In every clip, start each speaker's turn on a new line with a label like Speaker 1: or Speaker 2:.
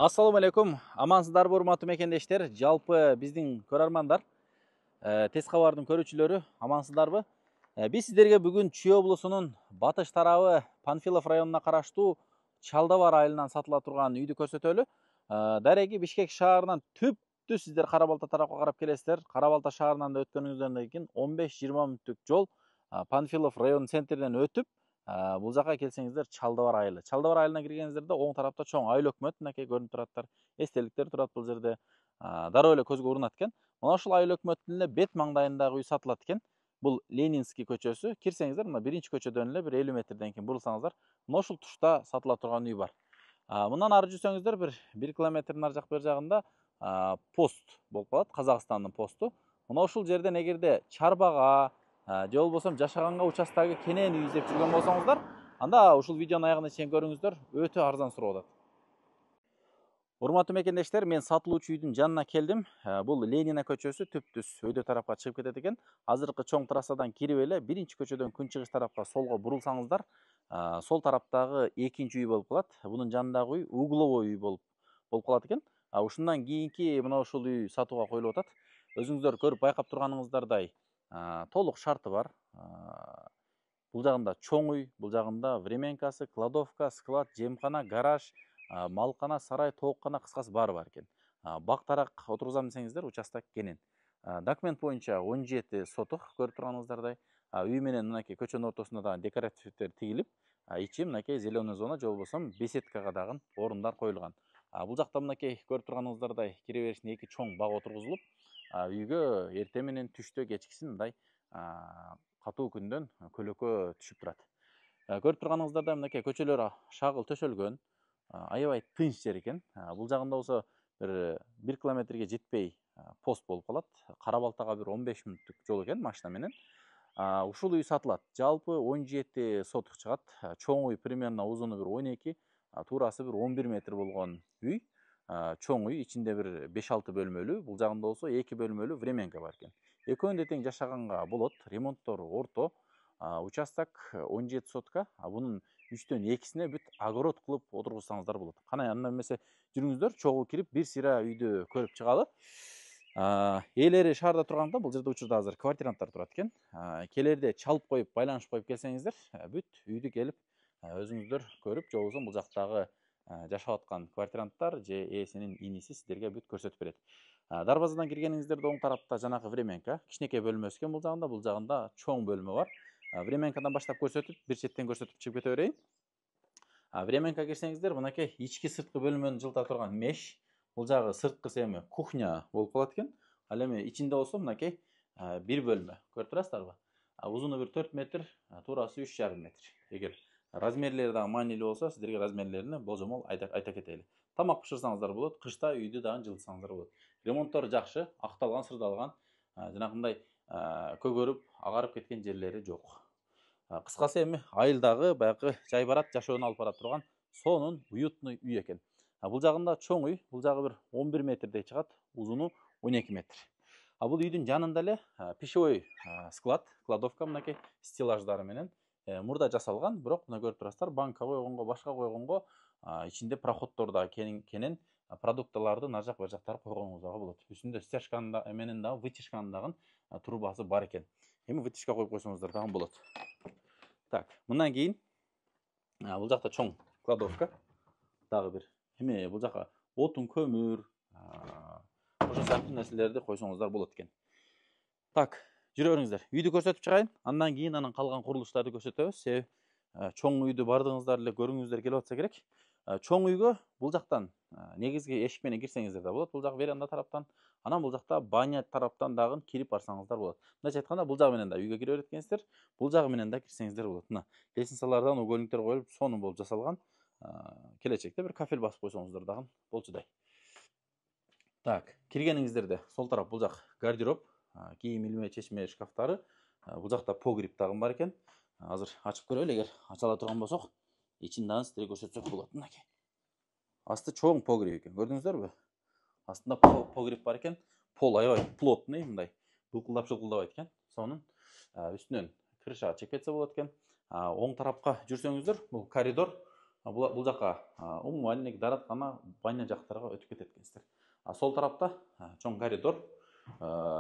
Speaker 1: Ассаламу алейкум. Амансыздарбы урматтуу мекендештер, жалпы биздин көрөрмандар, тез кабардын көрүүчүлөрү, амансыздарбы? Биз сиздерге бүгүн Чүй облусунун батыш тарабы Панфилов районуна караштуу Чалдабар айылынан сатыла турган үйдү көрсөтөлү. Дареги Бишкек шаарынан түптү сиздер Кара Балта тарапка карап келесиздер. Кара Балта шаарынан да өткөнүңүздөн кийин 15-20 мүнөттүк жол Панфилов район центринен өтүп, бул жака келсеңиздер Чалдабар айылы. Чалдабар айылына киргениңиздерде оң тарапта чоң айыл өкмөт мынакей көрүнүп тураттар. Эстеликтер турат бул жерде. Дароо эле көзгө урунат экен. Мына ушул айыл өкмөттүн эле бет маңдайындагы үй сатылат экен. Бул Ленинский көчөсү. Кирсеңиздер, мына биринчи көчөдөн эле бир 50 метрден кийин бурулсаңыздар, мына ушул тушта сатыла турган үй бар. Мындан ары жүрсөңүздөр бир 1 километрдин ары жак бер жагында пост болуп калат, Казакстандын посту. Мына ушул жерден эгерде чарбага же болбосо жашаганга участогу кенен үй издеп жүргөн болсоңуздар, анда ушул видеонун аягына чейин көрүңүздөр, өтө арзан суроо болот. Урматтуу мекендештер, мен сатылуучу үйдүн жанына келдим. Бул Ленина көчөсү түптүс өйдө тарапка чыгып кетет экен. Азыркы чоң трассадан кирип эле биринчи көчөдөн күнчыгыш тарапка солго бурулсаңыздар, сол тараптагы экинчи үй болуп калат. Бунун жанындагы үй угловой үй болуп калат экен. Ушундан кийинки мына ушул үй сатууга коюлуп атат. Өзүңүздөр көрүп байкап турганыңыздардай, толук шарты бар. Бул жагында чоң үй, бул жагында временкасы, кладовка, склад, жемкана, гараж, малкана, сарай, тооккана, кыскасы баары бар экен. Бактарак отургузам десеңиздер, участок кенен. Документ боюнча 17 сотук көрүп турганыңыздардай. Үй менен мынакей көчөнүн ортосуна да декоративдер тигилип, ичи мынакей зеленый зона же болбосо беседкага дагы орундар коюлган. Бул жакта мынакей көрүп турганыңыздардай кире беришине 2 чоң бак отургузулуп, үйгө эртең менен түштө кечкисин мындай катуу күндөн көлөкө түшүп турат. Көрүп турганыңыздардай мынакей көчөлөр шагыл төшөлгөн, аябай тынч жер экен. Бул жагында болсо бир 1 километрге жетпей пост болуп калат. Кара Балтага бир 15 мүнөттүк жол экен машина менен. Ушул үй сатылат. Жалпы 17 сотук чыгат. Чоң үй примерно узуну бир 12, туурасы бир 11 метр болгон үй. Чоң үй, ичинде бир 5-6 бөлмөлүү, бул жагында болсо 2 бөлмөлүү временка бар экен. Экөөнү тең жашаганга болот, ремонттору орто. Участок 17 сотка, бунун 3төн 2сине бүт огород кылып отургузсаңыздар болот. Кана анда эмесе жүрүңүздөр, чогуу кирип бир сыйра үйдү көрүп чыгалы. Ээлери шаарда турганда бул жерде учурда азыр квартиранттар турат экен. Келерде чалып коюп, байланышып коюп келсеңиздер, бүт үйдү келип өзүңүздөр көрүп, же болбосо бул жактагы жашап аткан квартиранттар же ээсинин иниси сиздерге бүт көрсөтүп берет. Дарбазадан киргениңиздерде оң тарапта жанагы временка, кичинекей бөлмөсү экен бул жагында чоң бөлмө бар. Временкадан баштап көрсөтүп, бир четтен көрсөтүп чыгып кете берейин. Временка кирсеңиздер, мынакей ички сырткы бөлмөнү жылыта турган меш, бул жагы сырткысы эми кухня болуп калат экен. Ал эми ичинде болсо мынакей бир бөлмө, көрүп турасыздарбы? Узуну бир 4 метр, туурасы 3,5 метр. Эгер размерлери дагы маанилүү болсо, сиздерге размерлерин болжомол айта кетели. Тамак бышырсаңыздар болот, кышта үйдү дагы жылытсаңыздар болот. Ремонттору жакшы, акталган, сырдалган, жанагындай көгөрүп, агарып кеткен жерлери жок. Кыскасы эми айылдагы баягы жай барат, жашоону алып бара турган сонун уютный үй экен. Бул жагында чоң үй, бул жагы бир 11 метрдей чыгат, узуну 12 метр. Бул үйдүн жанында эле пищевой склад, кладовка мынакей стеллаждары менен мурда жасалган, бирок мына көрүп турасыздар, банка койгонго, башка койгонго, ичинде проходдор да кенен продуктыларды нар жак бер жактары койгонуңузга болот. Үстүндө стяжканы менен дагы вытяжканын дагы трубасы бар экен. Эми вытяжка коюп койсоңуздар дагы болот. Так, мындан кийин бул жакта чоң кладовка, дагы бир эми бул жака отун, көмүр, ошол сыяктуу нерселерди койсоңуздар болот экен. Так, жүрө бериңиздер. Үйдү көрсөтүп чыгайын, андан кийин анын калган курулуштарды көрсөтөбүз. Себеби чоң үйдү бардыгыңыздар эле көргүңүздөр келип атса керек. Чоң үйгө бул жактан негизги эшик менен кирсеңиздер да болот. Бул жак веранда тараптан, анан бул жакта баня тараптан дагы кирип барсаңыздар болот. Мындайча айтканда, бул жагы менен да үйгө кире берет экенсиздер. Бул жагы менен да кирсеңиздер болот. Мына лестницалардан угольниктер коюлуп, сонун болуп жасалган. Келечекте бир кафель басып койсоңуздар дагы болчудай. Так, киргениңиздерде сол тарап бул жак гардероб, кийим илме, чечме шкафтары. Бул жакта погреб дагы бар экен. Азыр ачып көрөлү, эгер ачала турган болсок, ичин дагы сиздерге көрсөтсөк болот. Мынакей. Асты чоң погреб экен, көрдүңүздөрбү? Астында погреб бар экен. Пол аябай плотный, мындай булкулдап-шылкылдабайт экен. Сонун үстүнөн крыша чекпетсе болот экен. Оң тарапка жүрсөңүздөр, бул коридор. Бул жака умывальник, даараткана, баня жактарга өтүп кетет экенсиздер. Сол тарапта чоң коридор.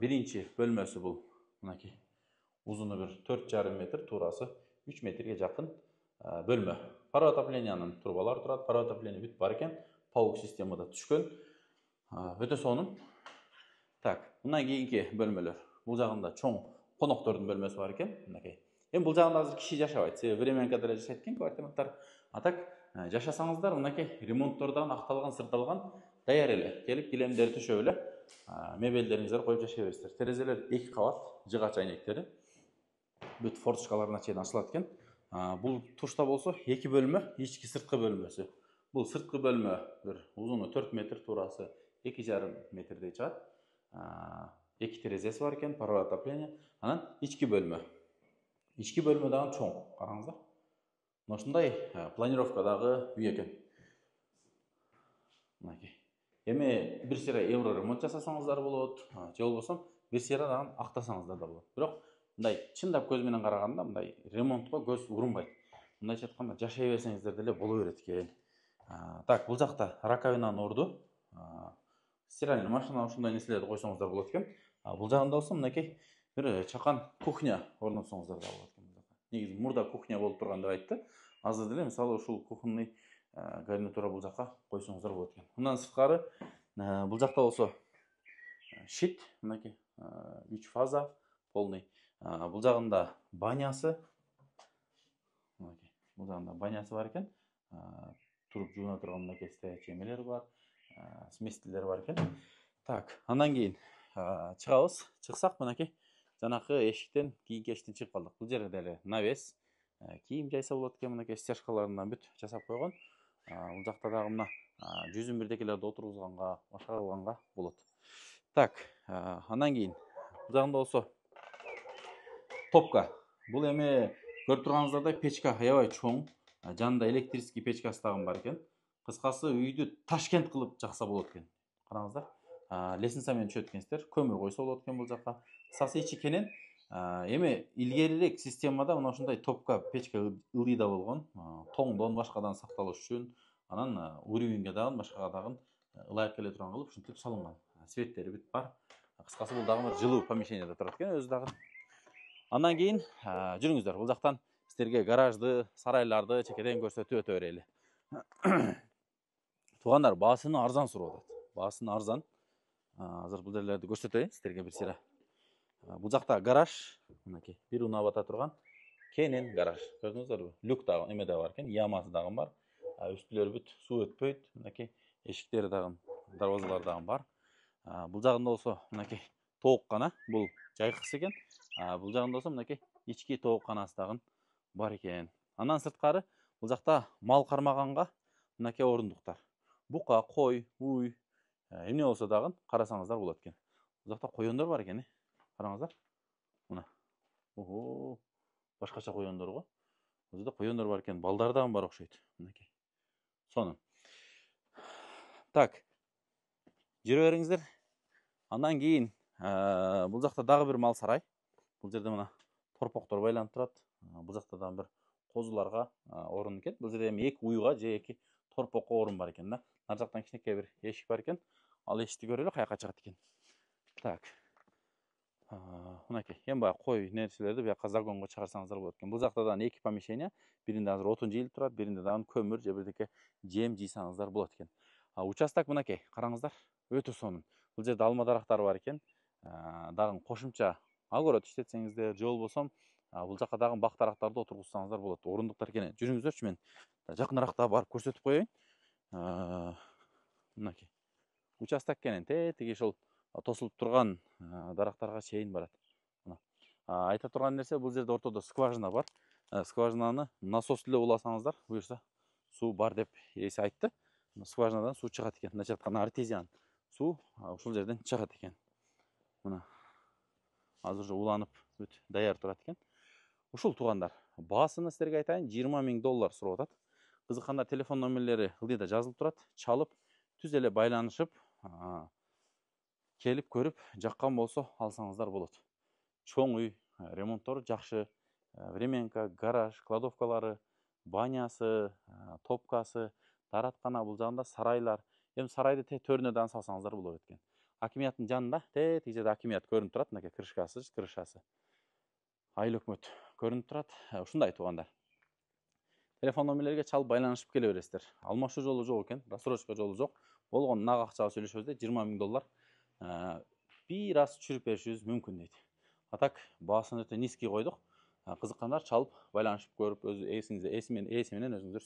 Speaker 1: Биринчи бөлмөсү бул мынакей. Узуну бир 4,5 метр, туурасы 3 метрге жакын бөлмө. Пара отоплениянын трубалары турат, пара отопление бүт бар экен. Паук системада түшкөн. Өтө сонун. Так, мындан кийинки бөлмөлөр. Бул жагында чоң коноктордун бөлмөсү бар экен, мынакей. Эми бул жагында азыр киши жашабайт. Себеби временкада эле жашайт экен квартиранттар. Так, жашасаңыздар мынакей ремонттордон акталган, сырталган даяр эле. Келип килемдерди төшөп эле мебелдериңиздерди коюп жашай бересиздер. Терезелер 2 кабат, жыгач айнектери. Бүт форточкаларына чейин ачылат экен. Бул тушта болсо 2 бөлмө, ички сырткы бөлмөсү. Бул сырткы бөлмө бир узуну 4 метр, туурасы 2,5 метрдей чыгат. 2 терезеси бар экен, пара отопление. Анан ички бөлмө. Ички бөлмө дагы чоң, караңыздар. Мына ушундай планировкадагы үй экен. Мынакей. Эми 1 сыйра евро ремонт жасасаңыздар болот, же болбосо 1 сыйра дагы актасаңыздар да болот. Бирок мындай чындап көз менен караганда мындай ремонтко көз урунбайт. Мындайча айтканда жашай берсеңиздер деле боло берет экен. Так, бул жакта раковинанын орду, стиральный машина, ушундай нерселерди койсоңуздар болот экен. Бул жагында болсо мынакей бир чакан кухня орнотсоңуздар да болот экен. Негизи мурда кухня болуп турган деп айтты. Азыр деле мисалы ушул кухонный гарнитура бул жака койсоңуздар болот экен. Мындан сырткары бул жакта болсо щит, мынакей 3 фаза полный. Бул жагында банясы. Мынакей. Бул жагында банясы бар экен. Туруп жууна турган мынакей стоячий эмелер бар. Сместителер бар экен. Так, андан кийин чыгабыз. Чыксак мынакей жанакы эшиктен, кийинки эшиктен чыгып калдык. Бул жерде деле навес, кийим жайса болот экен, мынакей стяжкаларынан бүт жасап койгон. Бул жакта дагы мына жүзүн бирдекелерди отургузганга, башка кылганга болот. Так, андан кийин бул жагында болсо топка. Бул эми көрүп турганыңыздардай печка аябай чоң. Жанында электрический печкасы дагы бар экен. Кыскасы үйдү Ташкент кылып жакса болот экен. Караңыздар. Лестница менен түшөт экенсиздер. Көмүр койсо болот экен бул жака. Кыскасы ичи кенен. Эми илгерирээк системада мына ушундай топка печка ылдыйда болгон. Тоңдон башкадан сакталыш үчүн, анан уровеньге дагы башкага дагы ылайык келе турган кылып ушинтип салынган. Светтери бүт бар. Кыскасы бул дагы бир жылуу помещениеде турат экен өзү дагы. Андан кийин жүрүңүздөр. Бул жактан сиздерге гаражды, сарайларды чекеден көрсөтүп өтө берели. Туугандар, баасыны арзан сурап атат. Баасыны арзан. Азыр бул жерлерди көрсөтөйүн сиздерге бир сыйра. Бул жакта гараж, мынакей, бир унап ата турган кенен гараж. Көрдүңүздөрбү? Люк дагы эмеде бар экен, ямасы дагы бар. Үстүлөрү бүт суу өтпөйт. Мынакей, эшиктери дагы, дарбазалар дагы бар. Бул жагында болсо мынакей тооккана, бул жайкысы экен. Бул жагында болсо мынакей ички тоокканасы дагы бар экен. Андан сырткары бул жакта мал кармаганга мынакей орундуктар. Бука, кой, уй, эмне болсо дагы карасаңыздар болот экен. Бул жакта коёндор бар экен, караңыздар. Мына. Ого, башкача коёндор го. Бул жерде коёндор бар экен, балдар дагы бар окшойт. Мынакей. Сонун. Так. Жүрө бериңиздер. Андан кийин бул жакта дагы бир мал сарай. Бул жерде мына торпоктор байланып турат. Бул жакта дагы бир козуларга орун экен. Бул жерде эми 2 уйга же 2 торпокко орун бар экен да. Нар жактан кичинекей бир эшик бар экен. Ал эшикти көрөлү, каяка чыгат экен. Так. Мынакей, эми баягы кой нерселерди буяка загонго чыгарсаңыздар болот экен. Бул жакта дагы 2 помещение. Биринде азыр отун жыйылып турат, биринде дагы көмүр же бирдеке жем жыйсаңыздар болот экен. Участок мынакей, караңыздар, өтө сонун. Бул жерде алма дарактары бар экен. Дагы кошумча огород иштетсеңиздер, же болбосо бул жака дагы бак дарактарды отургузсаңыздар болот. Орундуктар экен. Жүрүңүздөрчү, мен жакыныраак барып көрсөтүп коеюн. Мынакей. Участок экен, тиги ушул тосулуп турган дарактарга чейин барат. Мына. Айта турган нерсе, бул жерде ортодо скважина бар. Скважинаны насос эле уласаңыздар, буюрса суу бар деп эси айтты. Скважинадан суу чыгат экен. Мындайча айтканда артезиан суу ушул жерден чыгат экен. Мына. Азыр уже уланып бүт даяр турат экен. Ушул туугандар, баасыны сиздерге айтайын, $20,000 сурап атат. Кызыккандар телефон номерлери ылдыйда жазылып турат. Чалып, түз эле байланышып, келип көрүп, жаккан болсо алсаңыздар болот. Чоң үй, ремонттору жакшы, временка, гараж, кладовкалары банясы, топкасы, даараткана, бул жагында сарайлар. Эми сарайды төрүнө дагы салсаңыздар болот экен. Акимияттын жанында тиги жерде акимият көрүнүп турат, мынакей крышасы. Айыл өкмөт көрүнүп турат. Ушундай туугандар. Телефон номерлерге чалып байланышып келе бересиздер. Алмашуу жолу жок экен, рассрочка жолу жок. Болгону нак акчага сүйлөшөбүз де, $20,000 бир аз түшүрүп беришибиз мүмкүн дейт. А так баасын өтө низкий койдук. Кызыккандар чалып байланышып көрүп, өз эси менен өзүңүздөр